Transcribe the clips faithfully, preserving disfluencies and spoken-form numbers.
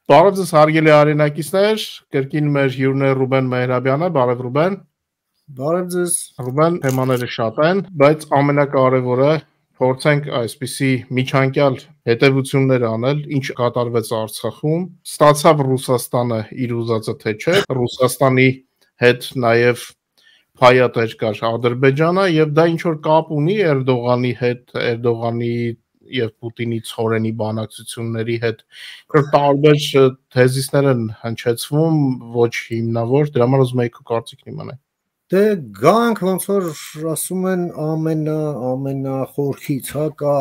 Բարև ձեզ հարգելի արենակիցներ, կրկին մեր հյուրն է Ռուբեն Մեհրաբյանը, բարև Ռուբեն։ Բարև ձեզ։ Ռուբեն, թեմաները շատ են, բայց ամենակարևորը փորձենք այսպիսի միջանկյալ հետևություններ անել, ինչ կատարվեց Արցախում, ստացավ Ռուսաստանը իր ուզածը թե չէ, Ռուսաստանի հետ նաև փայատեր կար Ադրբեջանը եւ դա ինչ որ կապ ունի Էրդողանի հետ, Էրդողանի եւ Պուտինի ցորենի բանակցությունների հետ տարբեր թեզիսներ են հնչեցվում, ոչ հիմնավոր, դրա համար ուզում եմ քո կարծիքն իմանալ։ Դե գանք ոնց որ ասում են ամենա ամենախորքից, հա, կա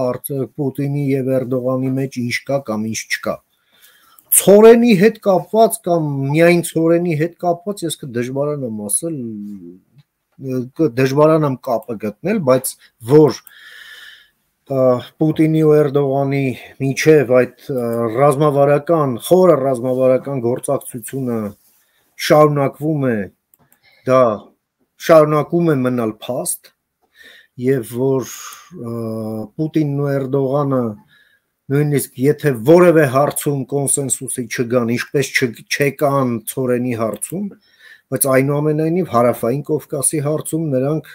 Պուտինի եւ Էրդողանի մեջ ինչ կա կամ ինչ չկա։ Ցորենի հետ կապված կամ միայն ցորենի հետ կապված ես կդժվարանամ ասել, դժվարանամ կապը գտնել, բայց որ Պուտինի ու Էրդողանի միջև այդ ռազմավարական, խորը ռազմավարական գործակցությունը շարունակվում է, դա շարունակում է մնալ փաստ եւ որ Պուտինն ու Էրդողանը նույնիսկ եթե որևէ հարցում կոնսենսուսի չգան, ինչպես չեկան ցորենի հարցում, բայց այնուամենայնիվ հարավային Կովկասի հարցում նրանք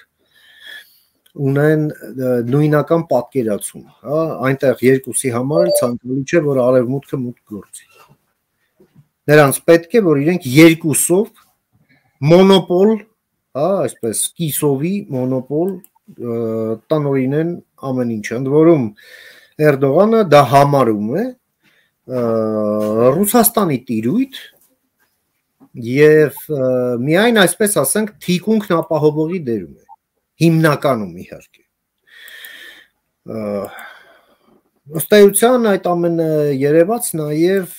ունեն նույնական պատկերացում, հա, այնտեղ երկուսի համար ցանկալի չէ, որ արևմուտքը մուտք գործի։ Նրանց պետք է, որ իրենք երկուսով մոնոպոլ, հա, այսպես կիսովի մոնոպոլ տնօրինեն ամեն ինչ, ընդ որում Էրդողանը դա համարում է Ռուսաստանի տիրույթ եւ միայն այսպես ասենք թիկունքն ապահովողի դերում է, հիմնականում իհարկե։ Ըստ էության այդ ամենը երևաց նաեւ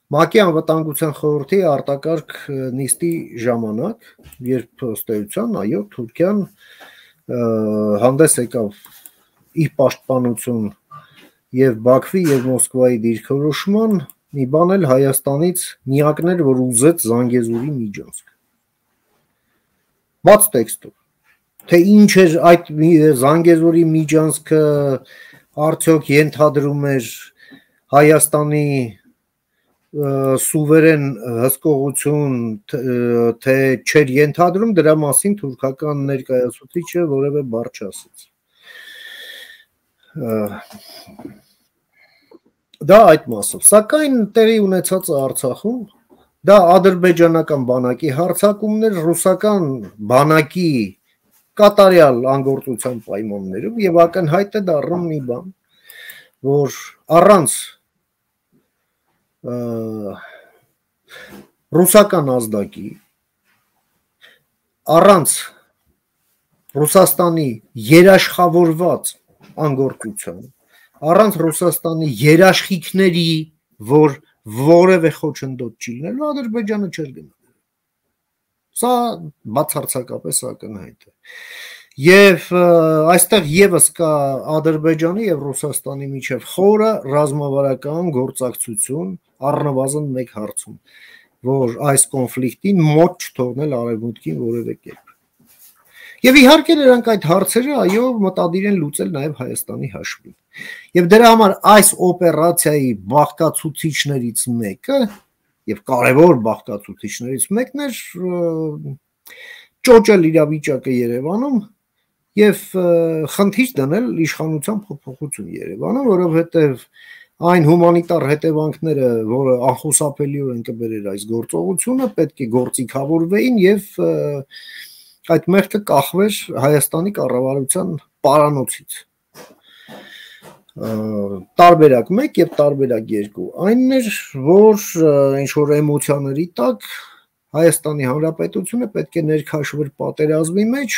ՄԱԿ-ի անվտանգության խորհրդի արտակարգ նիստի ժամանակ, երբ ըստ էության, այո, Թուրքիան հանդես եկավ իր պաշտպանություն եւ Բաքվի եւ Մոսկվայի դիրքորոշման, մի բան էլ Հայաստանից միակն էր, որ ուզեց Զանգեզուրի միջանցք։ Բաց տեքստով, թե ինչ էր այդ Զանգեզուրի միջանցքը, արդյոք ենթադրում էր Հայաստանի սուվերեն հսկողություն, թե չէր ենթադրում, դրա մասին թուրքական ներկայացուցիչը որևէ բառ չասաց։ Դա այդ մասով, սակայն տեղի ունեցածը Արցախում, դա ադրբեջանական բանակի հարձակումներ ռուսական բանակի կատարյալ անգործության պայմաններում եւ ակնհայտ է դառնում մի բան, որ առանց ռուսական ազդակի, առանց Ռուսաստանի երաշխավորված անգործության, առանց Ռուսաստանի երաշխիքների, որ որևէ խոչընդոտ չի լինելու, Ադրբեջանը չէր գնա։ Սա բացարձակապես ակնհայտ է։ Եվ այստեղ եւս կա Ադրբեջանի եւ Ռուսաստանի միջև խորը ռազմավարական գործակցություն առնվազն մեկ հարցում, որ այս կոնֆլիկտին մոտ չթողնել արևմուտքին որևէ կերպ։ Եվ իհարկե նրանք այդ հարցերը այո մտադիր են լուծել նաև Հայաստանի հաշվին։ Եվ դրա համար այս օպերացիայի բաղկացուցիչներից մեկը եւ կարևոր բաղկացուցիչներից մեկն էր ճոճել իրավիճակը Երևանում եւ խնդիր դնել իշխանության փոփոխություն Երևանում, որովհետեւ այն հումանիտար հետևանքները, որը անխուսափելիորեն կբերեր այս գործողությունը, պետք է գործիքավորվեին եւ այդ մեղքը կախվեր Հայաստանի կառավարության պարանոցից։ Տարբերակ մեկ եւ տարբերակ երկու։ Այնն էր, որ ինչ որ էմոցիաների տակ Հայաստանի Հանրապետությունը պետք է ներքաշվեր պատերազմի մեջ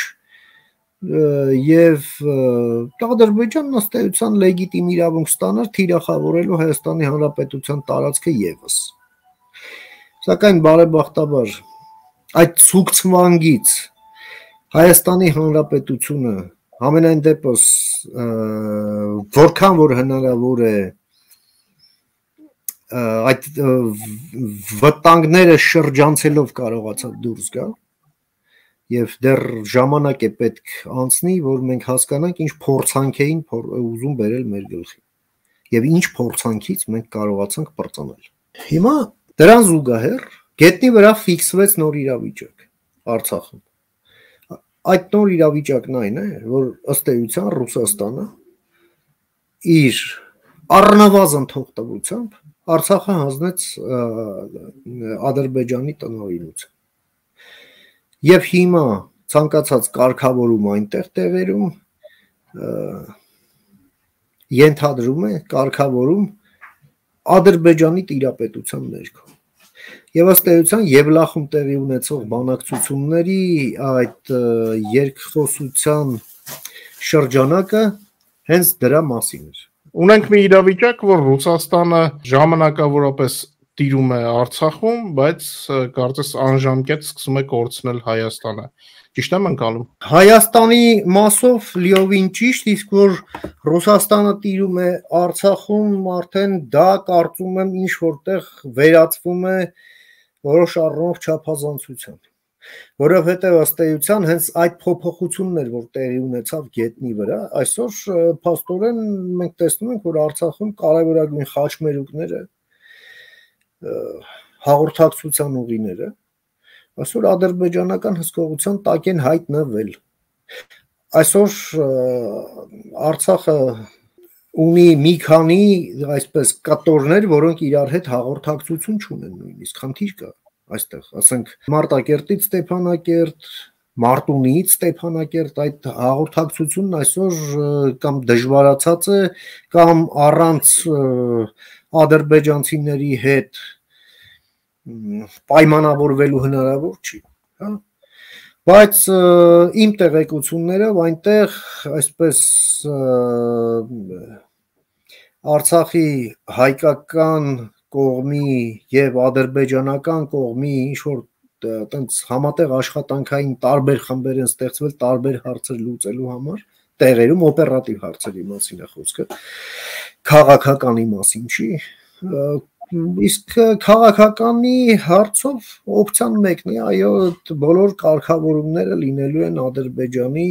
եւ Ադրբեջանն ըստ էության լեգիտիմ իրավունք ստանար թիրախավորելու Հայաստանի Հանրապետության տարածքը եւս։ Սակայն բարեբախտաբար այդ ցուկցվանգից Հայաստանի Հանրապետությունը համենայն դեպս որքան որ հնարավոր է այդ վտանգները շրջանցելով կարողացավ դուրս գալ եւ դեռ ժամանակ է պետք անցնի, որ մենք հասկանանք ինչ փորձանք էին ուզում բերել մեր գլխին։ եւ ինչ փորձանքից մենք կարողացանք բրծանել։ Հիմա դրան զուգահեռ գետնի վրա ֆիքսվեց նոր իրավիճակ Արցախում։ Այդ նոր իրավիճակն այն է, որ ըստ էության Ռուսաստանը իր առնվազն թողտվությամբ Արցախը հանձնեց Ադրբեջանի տնօրինության։ Եվ հիմա ցանկացած կարգավորում այնտեղ տեղերում ենթադրում է կարգավորում Ադրբեջանի տիրապետության ներքո։ Եվ ըստ էության Եվլախում տեղի ունեցող բանակցությունների այդ երկխոսության շրջանակը հենց դրա մասին էր։ Ունենք մի իրավիճակ, որ Ռուսաստանը ժամանակավորապես տիրում է Արցախում, բայց կարծես անժամկետ սկսում է կորցնել Հայաստանը։ Ճիշտ եմ ընկալում։ Հայաստանի մասով լիովին ճիշտ, իսկ որ Ռուսաստանը տիրում է Արցախում, արդեն դա կարծում եմ ինչ որտեղ վերածվում է որոշ առումով չափազանցության, որովհետև ըստ էության հենց այդ փոփոխությունն էր, որ տեղի ունեցավ գետնի վրա, այսօր փաստորեն մենք տեսնում ենք, որ Արցախում կարևորագույն խաչմերուկները, հաղորդակցության ուղիները այսօր ադրբեջանական հսկողության տակ են հայտնվել։ Այսօր Արցախը ունի մի քանի այսպես կտորներ, որոնք իրար հետ հաղորդակցություն չունեն նույնիսկ, խնդիր կա այստեղ, ասենք Մարտակերտից Ստեփանակերտ, Մարտունիից Ստեփանակերտ, այդ հաղորդակցությունն այսօր կամ դժվարացած է, կամ առանց ադրբեջանցիների հետ պայմանավորվելու հնարավոր չի, հա։ Բայց իմ տեղեկություններով այնտեղ այսպես Արցախի հայկական կողմի եւ ադրբեջանական կողմի ինչ որ տենց համատեղ աշխատանքային տարբեր խմբեր են ստեղծվել տարբեր հարցեր լուծելու համար, տեղերում օպերատիվ հարցերի մասին է խոսքը, քաղաքականի մասին չի, իսկ քաղաքականի հարցով օպցիան մեկն է, այո, բոլոր կարգավորումները լինելու են Ադրբեջանի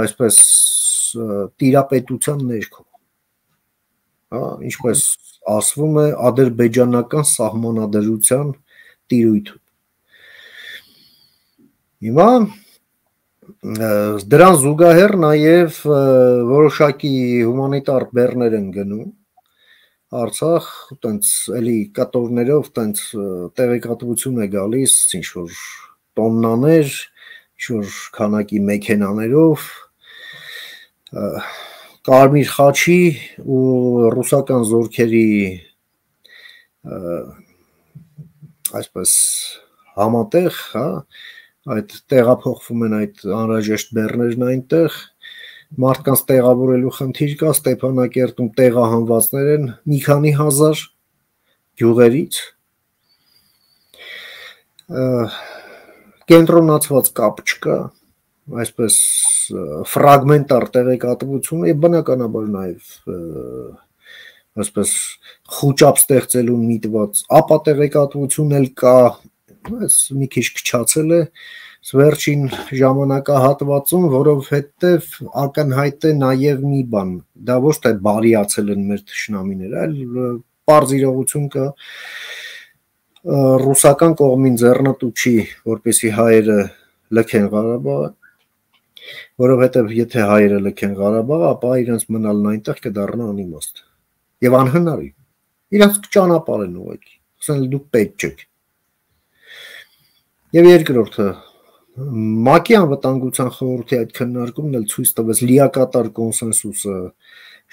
այսպես տիրապետության ներքո, հա, ինչպես ասվում է ադրբեջանական սահմանադրության տիրույթում։ Հիմա դրան զուգահեռ նաև որոշակի հումանիտար բեռներ են գնում Արցախ, տենց էլի կտորներով տենց տեղեկատվություն է գալիս, ինչ որ տոննաներ, ինչ որ քանակի մեքենաներով Կարմիր խաչի ու ռուսական զորքերի այսպես համատեղ, հա, այդ տեղափոխվում են այդ անհրաժեշտ բեռներն այնտեղ, մարդկանց տեղավորելու խնդիր կա, Ստեփանակերտում տեղահանվածներ են մի քանի հազար գյուղերից, կենտրոնացված կապ չկա, այսպես ֆրագմենտար տեղեկատվություն եւ բնականաբար նաեւ այսպես խոճապ ստեղծելու միտված ապա տեղեկատվություն էլ կա, այս մի քիչ քչացել է վերջին ժամանակահատվածում, որովհետեւ ակնհայտ է նաեւ մի բան, դա ոչ թե բարիացել են մեր թշնամիները, այլ պարզ իրողություն կա ռուսական կողմին ձեռնտու չի, որպեսզի հայերը լքեն Ղարաբաղը, որովհետև եթե հայերը լքեն Ղարաբաղը, ապա իրենց մնալն այնտեղ կդառնա անիմաստ եւ անհնարին։ Իրենց կճանապարհեն ուղղակի, ասեն դուք պետք չեք։ Եվ երկրորդը ՄԱԿ-ի անվտանգության խորհրդի այդ քննարկումն էլ ցույց տվեց լիակատար կոնսենսուսը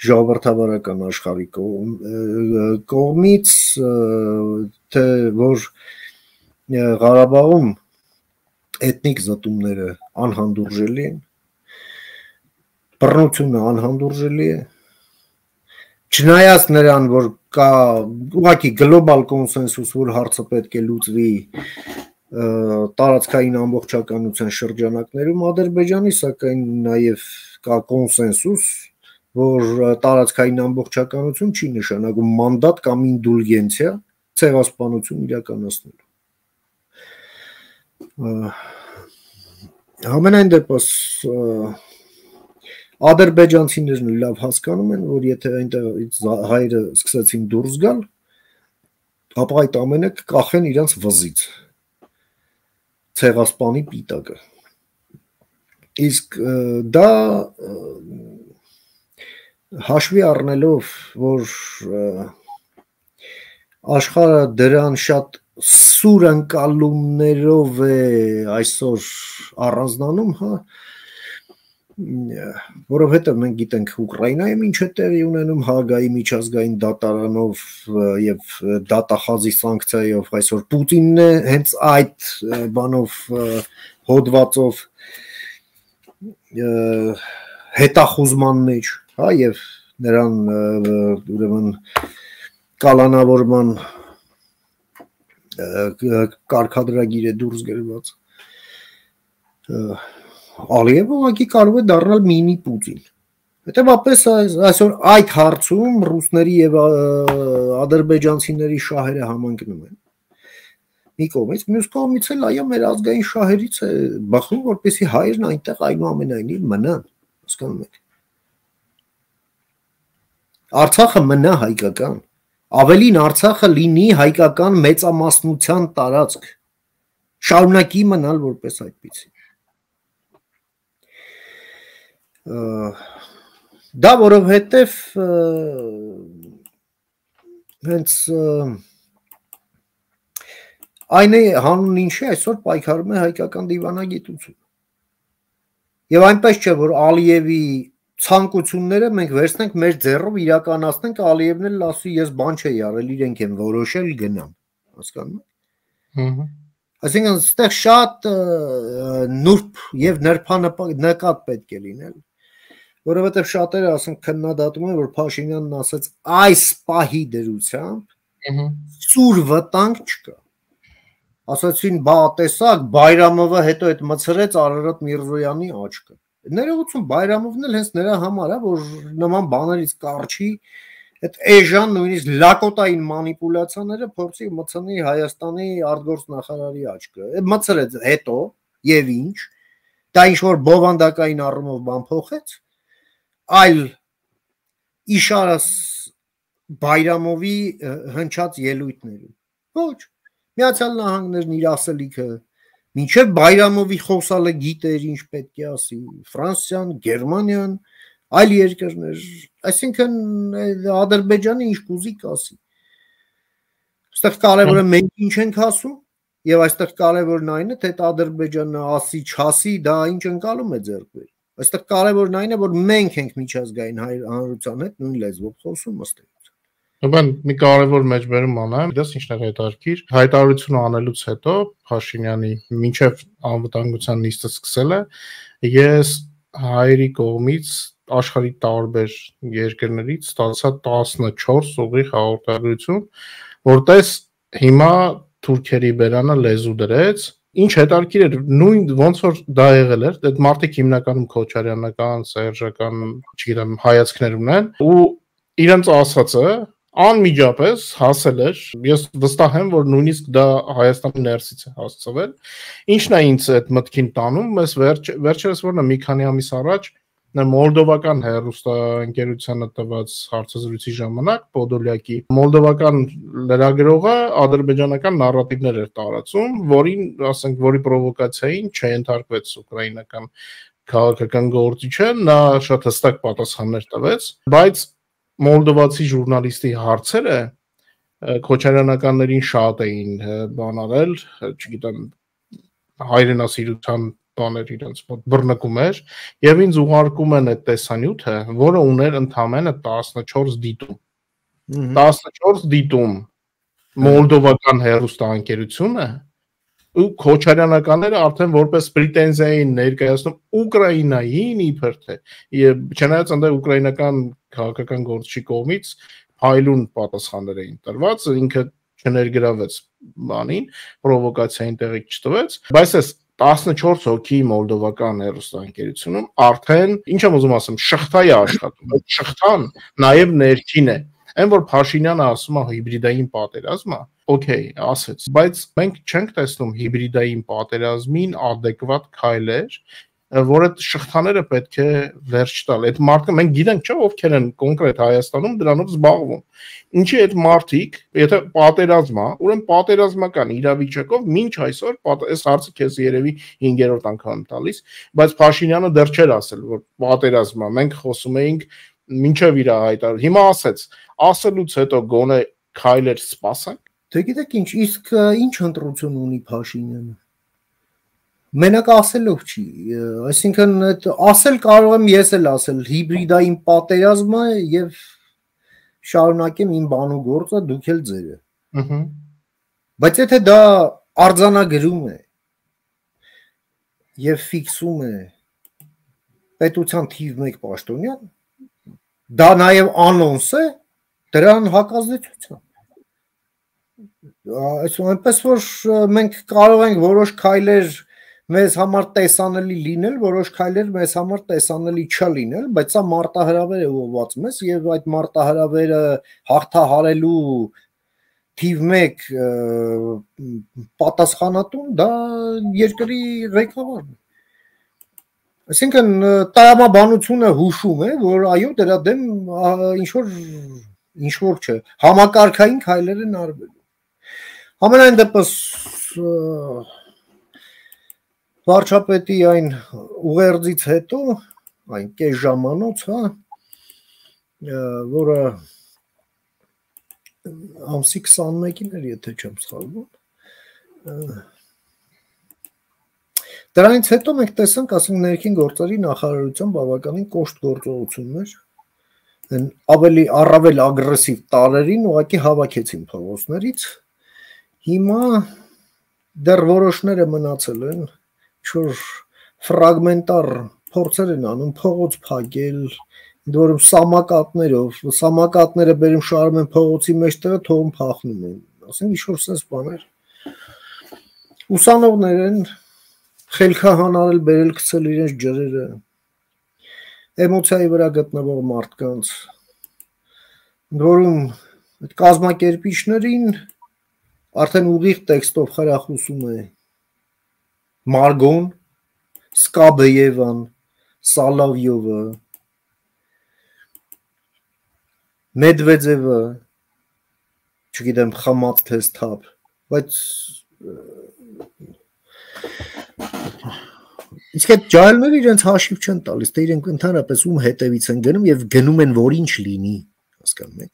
ժողովրդավարական աշխարհի կողմից, թե որ Ղարաբաղում էթնիկ զտումները անհանդուրժելի են, բռնությունը անհանդուրժելի է, չնայած նրան, որ կա ուղղակի գլոբալ կոնսենսուս, որ հարցը պետք է լուծվի տարածքային ամբողջականության շրջանակներում Ադրբեջանի, սակայն նաև կա կոնսենսուս, որ տարածքային ամբողջականություն չի նշանակում մանդատ կամ ինդուլգենցիա ցեղասպանություն իրականացնելու։ Համենայն դեպս Ադրբեջանցիներն լավ հասկանում են, որ եթե այնտեղից հայերը սկսեցին դուրս գալ, ապա այդ ամենը կկախեն իրենց վզից, ցեղասպանի պիտակը։ Իսկ դա հաշվի առնելով, որ աշխարհը դրան շատ սուր ընկալումներով է այսօր առանձնանում, հա, որովհետև մենք գիտենք Ուկրաինայում ինչ է տեղի ունենում Հաագայի միջազգային դատարանով եւ դատախազի սանկցիայով, այսօր Պուտինն է հենց այդ բանով հոդվածով հետախուզման մեջ, հա, եւ նրան ուրեմն կալանավորման կարգադրագիր է դուրս գրված։ Ալիևը ուղղակի կարող է դառնալ մինի Պուտին։ Հետևաբար այսօր այդ հարցում ռուսների եւ ադրբեջանցիների շահերը համընկնում են։ Մի կողմից, մյուս կողմից էլ այո մեր ազգային շահերից է բախում, որպեսզի հայերն այնտեղ այնուամենայնիվ մնան, հասկանում եք։ Արցախը մնա հայկական, ավելին Արցախը լինի հայկական մեծամասնության տարածք, շարունակի մնալ որպես այդպիսի։ Դա որովհետև հենց այն է հանուն ինչի այսօր պայքարում է հայկական դիվանագիտություն։ Եվ այնպես չէ, որ Ալիևի ցանկությունները մենք վերցնենք մեր ձեռով իրականացնենք, Ալիևն էլ ասի ես բան չէի արել, իրենք են որոշել գնան, հասկանում եք։ Այսինքն այստեղ շատ նուրբ եւ նրբանկատ պետք է լինել, որովհետեւ շատերը ասենք քննադատում են, որ Փաշինյանն ասաց այս պահի դրությամբ սուր վտանգ չկա։ Ասացին բա տեսակ Բայրամովը հետո այդ մցրեց Արարատ Միրզոյանի աչքը։ Ներողություն Բայրամովն էլ հենց նրա համար է, որ նման բաներից կարճի այդ էժան նույնիսկ լակոտային մանիպուլյացիաները փորձի մցնի Հայաստանի արտգործնախարարի աչքը։ Մցրեց հետո եւ ինչ, դա ինչ որ բովանդակային առումով բան փոխեց, այլ իշարս Բայրամովի հնչած ելույթներում։ Ոչ, Միացյալ Նահանգներն իր ասելիքը մինչև Բայրամովի խոսալը գիտեր ինչ պետք է ասի, Ֆրանսիան, Գերմանիան, այլ երկրներ, այսինքն Ադրբեջանը ինչ կուզի կասի։ Այստեղ կարևորը մենք ինչ ենք ասում, եւ այստեղ կարևորն այն է, թե Ադրբեջանը ասի, չասի, դա ինչ ընկալում է ձեռք բերի։ Այստեղ կարևորն այն է, որ մենք ենք միջազգային հանրության հետ նույն լեզվով խոսում ըստ էության։ Բան մի կարևոր մեջբերում անեմ, դες ինչն է հետաքրքիր, հայտարարությունը անելուց հետո Փաշինյանի մինչև անվտանգության նիստը սկսել է, ես հայերի կողմից աշխարհի տարբեր երկրներից ստացա տասնչորս ուղիղ հաղորդագրություն, որտես հիմա թուրքերի բերանը լեզու դրեց, ինչ հետաքրքիր էր, նույն ոնց որ դա եղել էր, այդ մարդիկ հիմնականում քոչարյանական, սերժական, չգիտեմ, հայացքներ ունեն ու իրենց ասածը անմիջապես հասել էր, ես վստահ եմ, որ նույնիսկ դա Հայաստանի ներսից է հասցվել, ինչն է ինձ այդ մտքին տանում, ես վերջ, վերջերս որն է մի քանի ամիս առաջ մոլդովական հեռուստաընկերությանը տված հարցազրույցի ժամանակ Պոդոլյակի մոլդովական լրագրողը ադրբեջանական նարատիվներ էր տարածում, որին, ասենք, որի պրովոկացիային չենթարկվեց ուկրաինական քաղաքական գործիչը, նա շատ հստակ պատասխաններ տվեց, բայց մոլդովացի ժուրնալիստի հարցերը քոչարյանականներին շատ էին բան արել, չգիտեմ, հայրենասիրության բաներ իրենց մոտ բռնկում էր եւ ինձ ուղարկում են այդ տեսանյութը, որը ուներ ընդամենը տասնչորս դիտում։ տասնչորս դիտում մոլդովական հեռուստաընկերությունը ու քոչարյանականները արդեն որպես պրետենզիա էին ներկայացնում Ուկրաինային իբր թե եւ չնայած այնտեղ ուկրաինական քաղաքական գործչի կողմից հայլուն պատասխաններ էին տրված, ինքը չներգրավեց բանին, պրովոկացիային տեղի չտվեց, բայց այս տասնչորս հոգի մոլդովական հեռուստաընկերությունում արդեն ինչ եմ ուզում ասեմ, շղթա է աշխատում, այդ շղթան նաև ներքին է։ Այն որ Փաշինյանը ասում է հիբրիդային պատերազմ է, օքեյ, ասեց, բայց մենք չենք տեսնում հիբրիդային պատերազմին adekvat քայլեր, որ այդ շղթաները պետք է վերջ տալ։ Այդ մարդը մենք գիտենք, չէ՞, ովքեր են կոնկրետ Հայաստանում դրանով զբաղվում։ Ինչի այդ մարդիկ, եթե պատերազմ է, ուրեմն պատերազմական իրավիճակով մինչ այսօր այս հարցը քեզ երևի հինգերորդ անգամ տալիս, բայց Փաշինյանը դեռ չէր ասել, որ պատերազմ է։ Մենք խոսում էինք մինչև իր հայտարարությունը։ Հիմա ասեց, ասելուց հետո գոնե քայլեր սպասենք։ Դե գիտեք ինչ, իսկ ինչ ընտրություն ունի Փաշինյանը։ Մենակ ասելով չի, այսինքն այդ ասել կարող եմ ես էլ ասել, հիբրիդային պատերազմը եւ շարունակեմ իմ բանու գործը, դուք էլ ձերը։ Ահա։ Բայց եթե դա արձանագրում է եւ ֆիքսում է պետության թիվ մեկ պաշտոնյան, դա նաեւ անոնս է դրան հակազդեցության։ Այսինքն այնպես որ մենք կարող ենք որոշ քայլեր մեզ համար տեսանելի լինել, որոշ քայլեր մեզ համար տեսանելի չլինել, բայց սա մարտահրավեր է ուղղված մեզ եւ այդ մարտահրավերը հաղթահարելու թիվ մեկ պատասխանատուն դա երկրի ղեկավարն է։ Այսինքն տրամաբանությունը հուշում է, որ այո դրա դեմ ինչ որ ինչ որ չէ, համակարգային քայլեր են արվելու։ Ամենայն դեպս վարչապետի այն ուղերձից հետո, այն կես ժամանոց, հա, որը ամսի քսանմեկին էր, եթե չեմ սխալվում։ Դրանից հետո մենք տեսանք, ասենք ներքին գործերի նախարարության բավականին կոշտ գործողություններ, ավելի առավել ագրեսիվ տարրերին ուղղակի հավաքեցին փողոցներից։ Հիմա դեռ որոշները մնացել են, ինչ-որ ֆրագմենտար փորձեր են անում փողոց փակել, որում սամակատներով, սամակատները բերում շարում են փողոցի մեջտեղը, թողում փախնում են։ Ասենք ինչ-որ sense բաներ։ Ուսանողներ են խելքահանարել, բերել գցել իրենց ջրերը, էմոցիայի վրա գտնվող մարդկանց, որում այդ կազմակերպիչներին արդեն ուղիղ տեքստով խրախուսում է Մարգոն, Սկաբեևան, Սալավյովը, Մեդվեդևը, չգիտեմ, խմած թե սթափ, բայց իսկ այդ ջահելները իրենց հաշիվ չեն տալիս, թե իրենք ընդհանրապես ում հետևից են գնում եւ գնում են, որ ինչ լինի, հասկանում եք։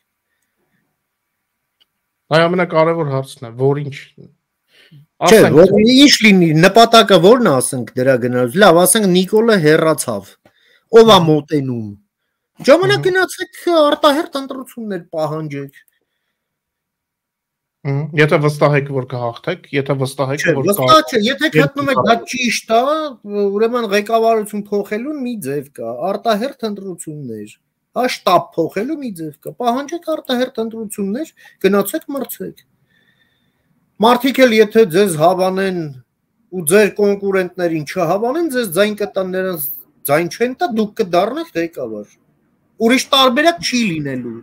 Այ ամենակարևոր հարցն է, որ ինչ Չէ, որ ինչ լինի, նպատակը ո՞րն է, ասենք դրա գնալուց։ Լավ, ասենք Նիկոլը հեռացավ։ Ո՞վ է մոտենում։ Ժամանակ գնացեք արտահերթ ընտրություններ պահանջեք։ Եթե վստահ եք, որ կհաղթեք, եթե վստահ եք, որ վստահ չէ, եթե գտնում եք դա ճիշտ է, ուրեմն ղեկավարություն փոխելու մի ձև կա, արտահերթ ընտրություններ, հա շտաբ փոխելու մի ձև կա, պահանջեք արտահերթ ընտրություններ, գնացեք մրցեք։ Մարդիկ էլ եթե ձեզ հավանեն ու ձեր կոնկուրենտներին չհավանեն, ձեզ ձայն կտան, նրանց ձայն չեն տա, դուք կդառնաք ղեկավար։ Ուրիշ տարբերակ չի լինելու։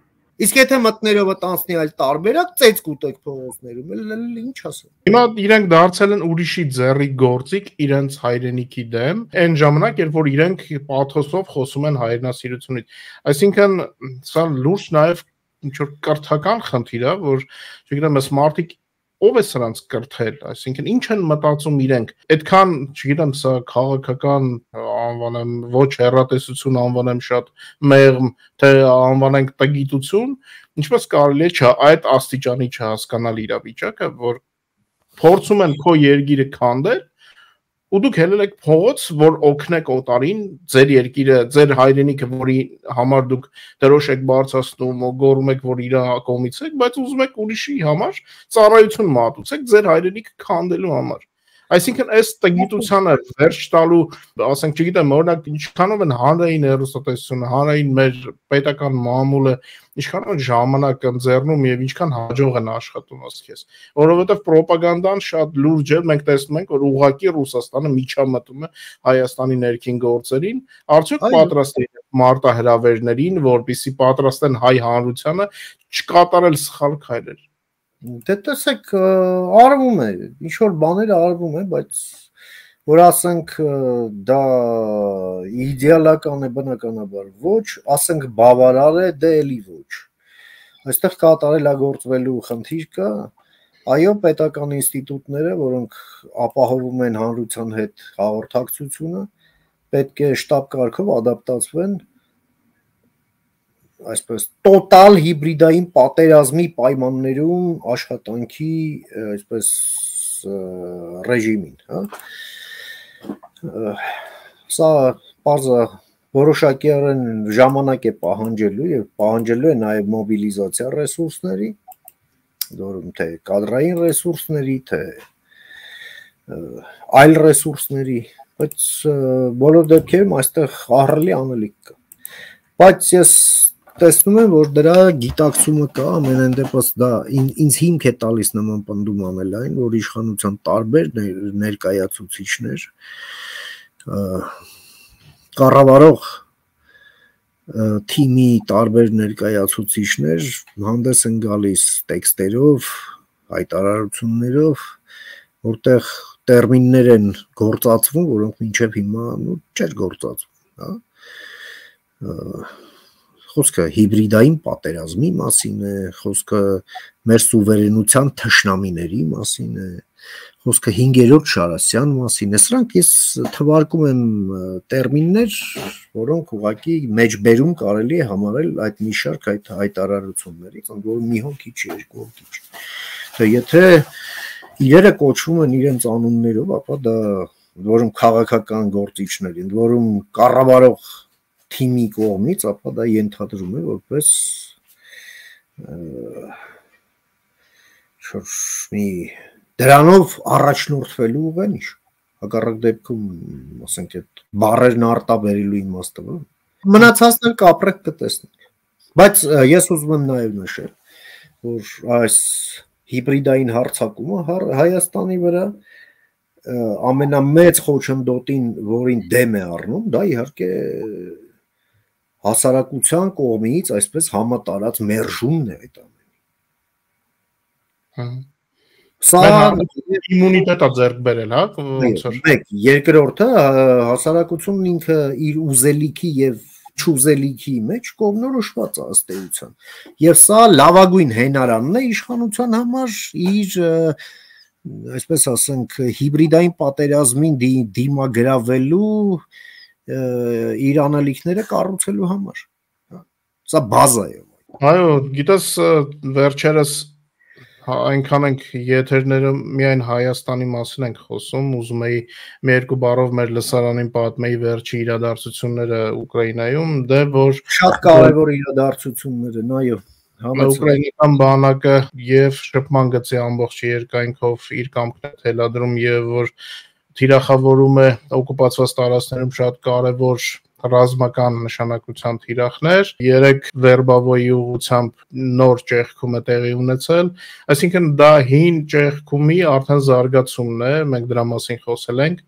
Իսկ եթե մտներովը տանցնի այլ տարբերակ, ծեծ կուտեք փողոցներում, էլ ինչ ասեմ։ Հիմա իրենք դարձել են ուրիշի ձեռի գործիք իրենց հայրենիքի դեմ, այն ժամանակ, երբ որ իրենք պաթոսով խոսում են հայրենասիրությունից։ Այսինքն, սա լուրջ նաև ինչ որ կրթական խնդիր է, որ չգիտեմ, այս մարդիկ ով է սրանց կրթել, այսինքն ինչ են մտածում իրենք, այդքան, չգիտեմ, սա քաղաքական անվանեմ, ոչ հեռատեսություն անվանեմ շատ մեղմ, թե անվանենք տգիտություն, ինչպես կարելի է այդ աստիճանի չհասկանալ իրավիճակը, որ փորձում են քո երկիրը քանդել, ու դուք հելել եք փողոց, որ օգնեք օտարին, ձեր երկիրը, ձեր հայրենիքը, որի համար դուք դրոշ եք բարձրացնում, գոռում եք, որ իր կողմից եք, բայց ուզում եք ուրիշի համար ծառայություն մատուցեք ձեր հայրենիքը քանդելու համար։ Այսինքն այս տգիտությանը վերջ տալու, ասենք, չգիտեմ, օրինակ ինչքանով են հանրային հեռուստատեսությունը, հանրային մեր պետական մամուլը, ինչքանով են ժամանակ ընձեռնում եւ ինչքան հաջող են աշխատում ասես, որովհետեւ ռոպագանդան շատ լուրջ է, մենք տեսնում ենք, որ ուղղակի Ռուսաստանը միջամտում է Հայաստանի ներքին գործերին, արդյոք պատրաստ է մարտահրավերներին, որպեսզի պատրաստեն հայ հանրությանը չկատարել սխալ քայլեր։ Դե տեսեք, արվում է, ինչ որ բաներ արվում է, բայց որ ասենք դա իդեալական է բնականաբար ոչ, ասենք բավարար է, դե էլի ոչ։ Այստեղ կատարելագործվելու խնդիր կա, այո, պետական ինստիտուտները, որոնք ապահովում են հանրության հետ հաղորդակցությունը, պետք է շտապ կարգով ադապտացվեն այսպես տոտալ հիբրիդային պատերազմի պայմաններում աշխատանքի այսպես ռեժիմին, հա։ Սա բարձա որոշակիորեն ժամանակ է պահանջելու եւ պահանջելու է նաեւ մոբիլիզացիա ռեսուրսների, որում թե կադրային ռեսուրսների, թե այլ ռեսուրսների, բայց բոլոր դեպքերում այստեղ ահռելի անելիք կա։ Բայց ես տեսնում եմ, որ դրա գիտակցումը կա, ամենայն դեպս դա ինձ հիմք է տալիս նման պնդում անել այն, որ իշխանության տարբեր ներկայացուցիչներ կառավարող թիմի տարբեր ներկայացուցիչներ հանդես են գալիս տեքստերով, հայտարարություններով, որտեղ տերմիններ են գործածվում, որոնք մինչև հիմա չէր գործածվում, հա։ Խոսքը հիբրիդային պատերազմի մասին է, խոսքը մեր սուվերենության թշնամիների մասին է, խոսքը հինգերորդ Շարասյան մասին է, սրանք ես թվարկում եմ տերմիններ, որոնք ուղղակի մեջբերում կարելի է համարել այդ մի շարք այդ հայտարարություններից, ընդ որում մի հոգի չի, երկու հոգի չի։ Թե եթե իրերը կոչվում են իրենց անուններով, ապա դա որում քաղաքական գործիչներ, ընդ որում կառավարող թիմի կողմից, ապա դա ենթադրում է որպես մի դրանով առաջնորդվելու ուղենիշ, հակառակ դեպքում, ասենք, այդ բառերն արտաբերելու իմաստը, մնացածն էլ կապրեք կտեսնենք։ Բայց ես ուզում եմ նաև նշել, որ այս հիբրիդային հարձակումը Հայաստանի վրա ամենամեծ խոչընդոտին, որին դեմ է առնում, դա իհարկե հասարակության կողմից այսպես համատարած մերժումն է այդ ամենի։ Սա իմունիտետը ձեռք բերել, հա, ոնց որ մեկ, երկրորդը հասարակությունն ինքը իր ուզելիքի եւ չուզելիքի մեջ կողմնորոշված է ըստ էության։ Եվ սա լավագույն հենարանն է իշխանության համար իր այսպես ասենք հիբրիդային պատերազմին դիմագրավելու իր անելիքները կառուցելու համար։ Սա բազա է։ Այո, գիտես, վերջերս այնքան ենք եթերները միայն Հայաստանի մասին ենք խոսում, ուզում էի մի երկու բառով մեր լսարանին պատմեի վերջի իրադարձությունները Ուկրաինայում, դե որ շատ կարևոր իրադարձություններ են, այո։ Ուկրաինական բանակը եւ շփման գծի ամբողջ երկայնքով իր կամքն է թելադրում եւ որ թիրախավորում է օկուպացված տարածքներում շատ կարևոր ռազմական նշանակության թիրախներ, երեք վերբավոյի ուղղությամբ նոր ճեղքում է տեղի ունեցել, այսինքն դա հին ճեղքումի արդեն զարգացումն է, մենք դրա մասին խոսել ենք,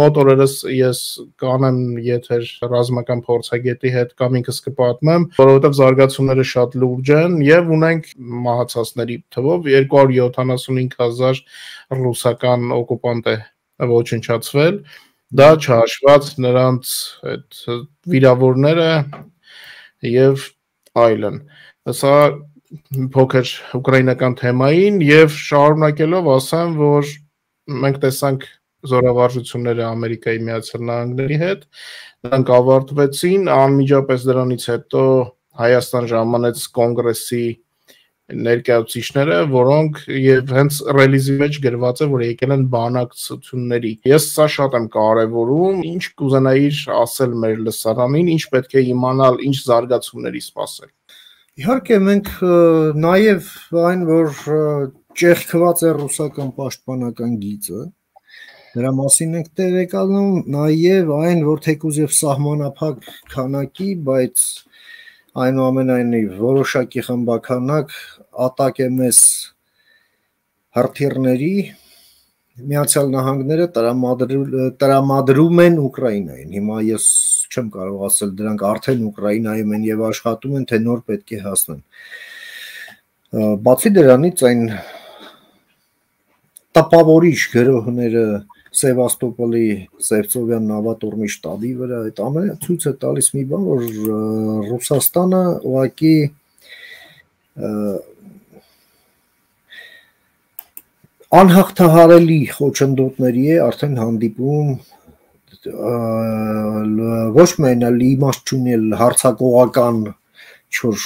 մոտ օրերս ես կանեմ եթեր ռազմական փորձագետի հետ կամ ինքս կպատմեմ, որովհետև զարգացումները շատ լուրջ են եւ ունենք մահացածների թվով երկու հարյուր յոթանասունհինգ հազար ռուսական օկուպանտ է ոչնչացվել, դա չհաշված նրանց այդ վիրավորները եւ այլն։ Սա փոքր ուկրաինական թեմային եւ շարունակելով ասեմ, որ մենք տեսանք զորավարժությունները Ամերիկայի Միացյալ Նահանգների հետ, նրանք ավարտվեցին, անմիջապես դրանից հետո Հայաստան ժամանեց կոնգրեսի ներկայացուցիչները, որոնք եւ հենց ռելիզի մեջ գրված է, որ եկել են բանակցությունների։ Ես սա շատ եմ կարևորում, ինչ կուզենայիր ասել մեր լսարանին, ինչ պետք է իմանալ, ինչ զարգացումների սպասել։ Իհարկե մենք նաեւ այն, որ ճեղքված է ռուսական պաշտպանական գիծը, դրա մասին ենք տեղեկանում, նաեւ այն, որ թեկուզ եւ սահմանափակ քանակի, բայց այնուամենայնիվ որոշակի խմբականակ ատակ է մեզ հրթիռների Միացյալ Նահանգները տրամադրում են Ուկրաինային։ Հիմա ես չեմ կարող ասել դրանք արդեն Ուկրաինայում են եւ աշխատում են, թե նոր պետք է հասնեն։ Բացի դրանից այն տպավորիչ գրողները Սևաստոպոլի Սևծովյան նավատորմի շտաբի վրա, այդ ամենը ցույց է տալիս մի բան, որ Ռուսաստանը ուղղակի անհաղթահարելի խոչընդոտների է արդեն հանդիպում ոչ միայն իմաստ չունել հարցակողական չոր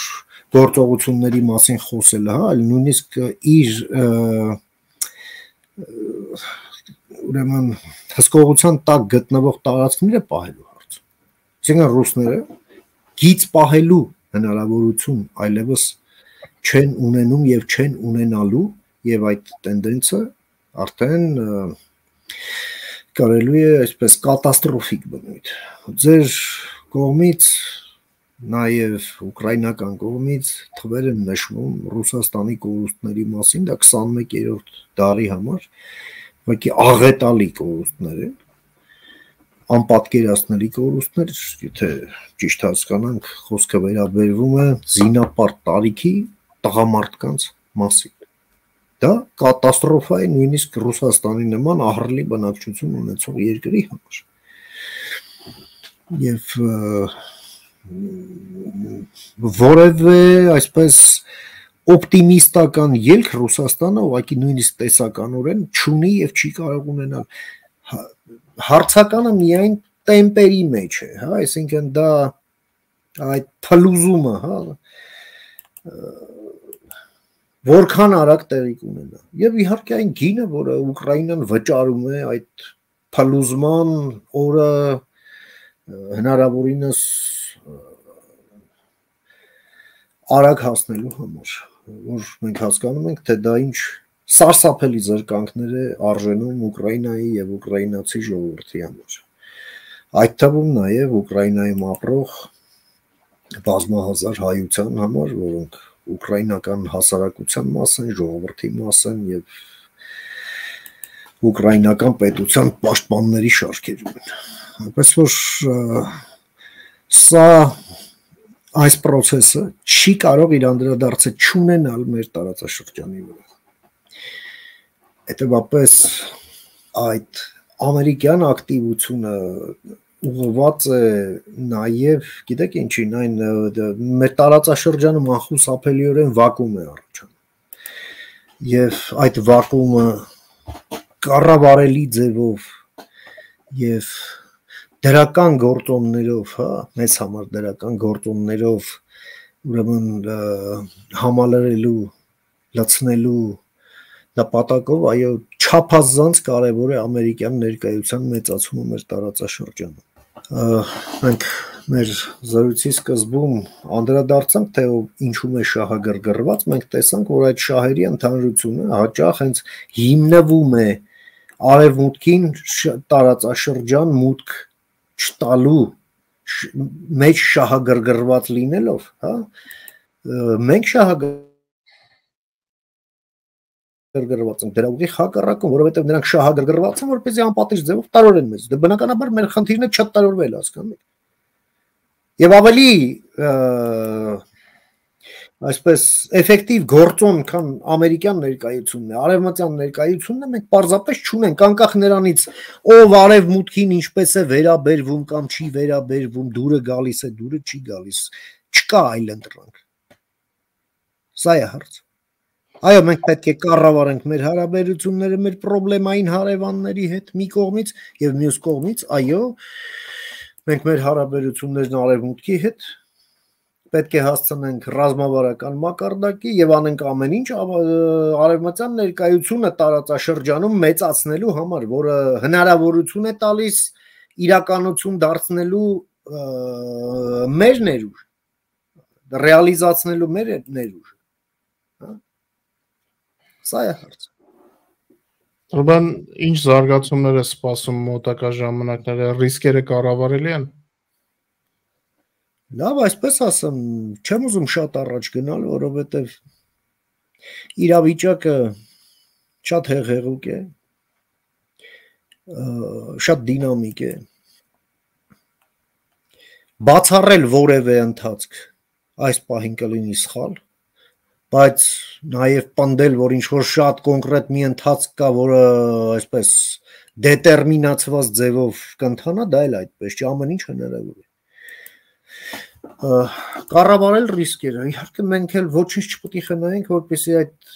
գործողությունների մասին խոսելը, հա, այլ նույնիսկ իր ուրեմն հսկողության տակ գտնվող տարածքները պահելու հարց։ Այսինքն ռուսները գիծ պահելու հնարավորություն այլևս չեն ունենում եւ չեն ունենալու եւ այդ տենդենսը արդեն կարելի է այսպես կատաստրոֆիկ բնույթ։ Ձեր կողմից նաև ուկրաինական կողմից թվեր են նշվում Ռուսաստանի կորուստների մասին, դա քսանմեկերորդ դարի համար ուղղակի աղետալի կորուստներ են, անպատկերացնելի կորուստներ, եթե ճիշտ հասկանանք, խոսքը վերաբերվում է զինապարտ տարիքի տղամարդկանց մասին։ Դա կատաստրոֆա է նույնիսկ Ռուսաստանի նման ահռելի բնակչություն ունեցող երկրի համար։ Եվ որևէ այսպես օպտիմիստական ելք Ռուսաստանը ուղղակի նույնիսկ տեսականորեն չունի եւ չի կարող ունենալ։ Հարցականը միայն տեմպերի մեջ է, հա, այսինքն դա այդ փլուզումը, հա, որքան արագ տեղի կունենա։ Եվ իհարկե այն գինը, որը Ուկրաինան վճարում է այդ փլուզման օրը հնարավորինս արագ հասնելու համար, որ մենք հասկանում ենք, թե դա ինչ սարսափելի զրկանքներ է արժենում Ուկրաինայի եւ ուկրաինացի ժողովրդի համար։ Այդ թվում նաեւ Ուկրաինայում ապրող բազմահազար հայության համար, որոնք ուկրաինական հասարակության մաս են, ժողովրդի մաս են եւ ուկրաինական պետության պաշտպանների շարքերում են։ Այնպես որ սա այս process-ը չի կարող իր անդրադարձը չունենալ մեր տարածաշրջանի վրա։ Հետևաբար այդ ամերիկյան ակտիվությունը ուղղված է նաև, գիտեք ինչին, այն մեր տարածաշրջանում անխուսափելիորեն վակուում է առաջանում։ Եվ այդ վակուումը կառավարելի ձևով եւ դրական գործոններով, հա, մեծ համար դրական գործոններով ուրեմն համալրելու, լցնելու նպատակով, այո, չափազանց կարևոր է ամերիկյան ներկայության մեծացումը մեր տարածաշրջանում։ Մենք մեր զրույցի սկզբում անդրադարձանք, թե ինչու է շահագրգռված, մենք տեսանք, որ այդ շահերի ընդհանրությունը հաճախ հենց հիմնվում է արևմուտքին տարածաշրջան մուտք չտալու մեջ շահագրգռված լինելով, հա, մենք շահագրգռված ենք դրա ուղի հակառակում, որովհետև նրանք շահագրգռված են, որպեսզի անպատիժ ձևով տարորեն մեզ։ Դե բնականաբար մեր խնդիրն է չտարորվել, հասկանու՞մ եք։ Եվ ավելի այսպես էֆեկտիվ գործոն, քան ամերիկյան ներկայությունն է, արևմտյան ներկայությունն է, մենք պարզապես չունենք, անկախ նրանից, ով արևմուտքին ինչպես է վերաբերվում կամ չի վերաբերվում, դուրը գալիս է, դուրը չի գալիս, չկա այլ ընտրանք։ Սա է հարցը։ Այո, մենք պետք է կառավարենք մեր հարաբերությունները մեր պրոբլեմային հարևանների հետ մի կողմից եւ մյուս կողմից, այո, մենք մեր հարաբերություններն արևմուտքի հետ պետք է հասցնենք ռազմավարական մակարդակի եւ անենք ամեն ինչ արևմտյան ներկայությունը տարածաշրջանում մեծացնելու համար, որը հնարավորություն է տալիս իրականություն դարձնելու մեր ներուժ, ռեալիզացնելու մեր ներուժ։ Սա է հարցը։ Ուրբան ինչ զարգացումներ է սպասում մոտակա ժամանակները, ռիսկերը կառավարելի են։ Լավ, այսպես ասեմ, չեմ ուզում շատ առաջ գնալ, որովհետև իրավիճակը շատ հեղեղուկ է, շատ դինամիկ է։ Բացառել որևէ ընթացք այս պահին կլինի սխալ, բայց նաև պնդել, որ ինչ որ շատ կոնկրետ մի ընթացք կա, որը այսպես դետերմինացված ձևով կընթանա, դա էլ այդպես չի, ամեն ինչ հնարավոր է։ Կառավարել ռիսկերը, իհարկե մենք էլ ոչինչ չպետք է խնայենք, որպեսզի այդ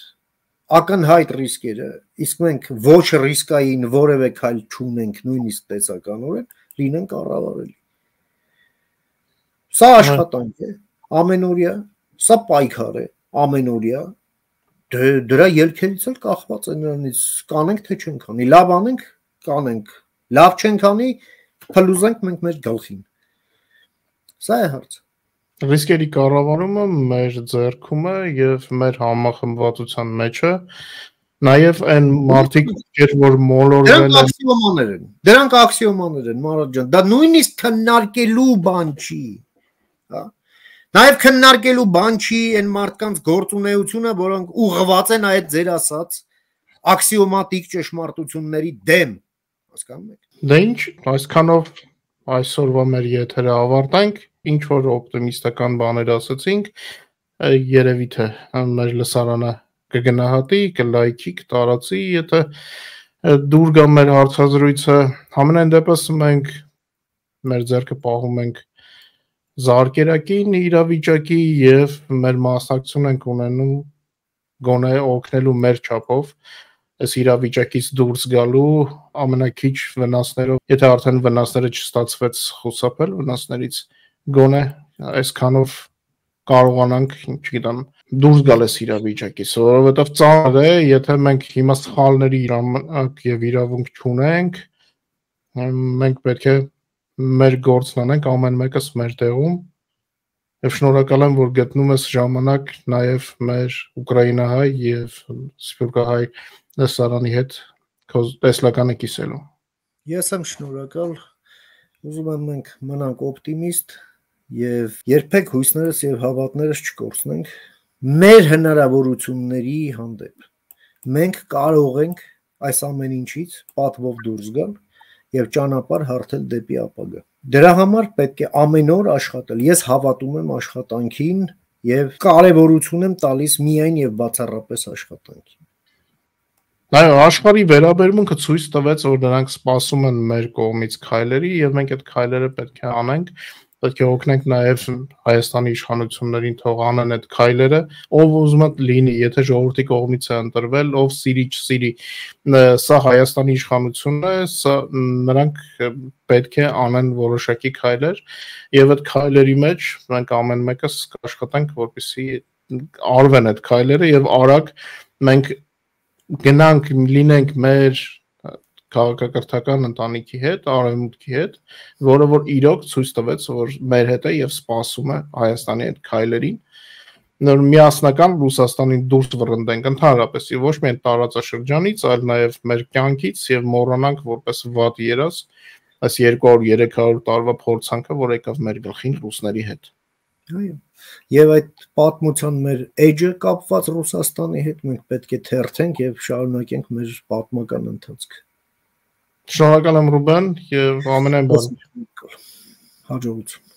ակնհայտ ռիսկերը, իսկ մենք ոչ ռիսկային որևէ քայլ չունենք, նույնիսկ տեսականորեն, լինեն կառավարելի։ Սա աշխատանք է, ամենօրյա, սա պայքար է, ամենօրյա, դրա ելքերից էլ կախված է նրանից կանենք թե չենք անի, լավ անենք, կանենք, լավ չենք անի, փլուզենք մենք մեր գլխին։ Սա է հարցը։ Ռիսկերի կառավարումը մեր ձեռքում է եւ մեր համախմբվածության մեջ է, նաեւ այն մարդիկ, որ մոլորվել են, դրանք աքսիոմաներ են։ Դրանք աքսիոմաներ են, Մարատ ջան, դա նույնիսկ քննարկելու բան չի, հա։ Նաև քննարկելու բան չի այն մարդկանց գործունեությունը, որոնք ուղղված են այդ ձեր ասած աքսիոմատիկ ճշմարտությունների դեմ, հասկանում եք։ Դե ինչ, այսքանով այսօրվա մեր եթերը ավարտենք, ինչ որ օպտիմիստական բաներ ասացինք, երևի թե մեր լսարանը կգնահատի, կլայքի, կտարածի, եթե դուր գա մեր հարցազրույցը, համենայն դեպս մենք մեր ձեռքը պահում ենք զարկերակին իրավիճակի եւ մեր մասնակցություն ենք ունենում գոնե օգնելու մեր չափով այս իրավիճակից դուրս գալու ամենակիչ վնասներով, եթե արդեն վնասները չստացվեց խուսափել վնասներից, գոնե այսքանով կարողանանք, չգիտեմ, դուրս գալ այս իրավիճակից, որովհետեւ ծանր է, եթե մենք հիմա սխալների իրավունք եւ իրավունք չունենք, մենք պետք է մեր գործն անենք ամեն մեկս մեր տեղում եւ շնորհակալ եմ, որ գտնում ես ժամանակ նաեւ մեր ուկրաինահայ եւ սփյուռքահայ լսարանի հետ քո տեսլականը կիսելու։ Ես եմ շնորհակալ, ուզում եմ մենք մնանք օպտիմիստ եւ երբեք հույսներս եւ հավատներս չկորցնենք մեր հնարավորությունների հանդեպ։ Մենք կարող ենք այս ամեն ինչից պատվով դուրս գալ եւ ճանապարհ հարթել դեպի ապագա։ Դրա համար պետք է ամեն օր աշխատել։ Ես հավատում եմ աշխատանքին եւ կարեւորություն եմ տալիս միայն եւ բացառապես աշխատանքին։ Այո, աշխարհի վերաբերմունքը ցույց տվեց, որ նրանք սպասում են մեր կողմից քայլերի եւ մենք այդ քայլերը պետք է անենք, պետք է օգնենք նաեւ Հայաստանի իշխանություններին թող անեն այդ քայլերը, ով ուզում է լինի, եթե ժողովրդի կողմից է ընտրվել, ով սիրի չսիրի, սա Հայաստանի իշխանությունն է, սա նրանք պետք է անեն որոշակի քայլեր եւ այդ քայլերի մեջ մենք ամեն մեկս կաշխատենք, որպեսզի արվեն այդ քայլերը եւ արագ մենք գնանք լինենք մեր քաղաքակրթական ընտանիքի հետ, արևմուտքի հետ, որը որ իրոք ցույց տվեց, որ մեր հետ է եւ սպասում է Հայաստանի այդ քայլերին, նոր միասնական Ռուսաստանին դուրս վռնդենք ընդհանրապես եւ ոչ միայն տարածաշրջանից, այլ նաեւ մեր կյանքից եւ մոռանանք որպես վատ երաս այս երկու հարյուր երեք հարյուր տարվա փորձանքը, որ եկավ մեր գլխին ռուսների հետ։ Այո։ Եվ այդ պատմության մեր էջը կապված Ռուսաստանի հետ մենք պետք է թերթենք եւ շարունակենք մեր պատմական ընթացքը։ Շնորհակալ եմ Ռուբեն եւ ամենայն բան։ Հաջողություն։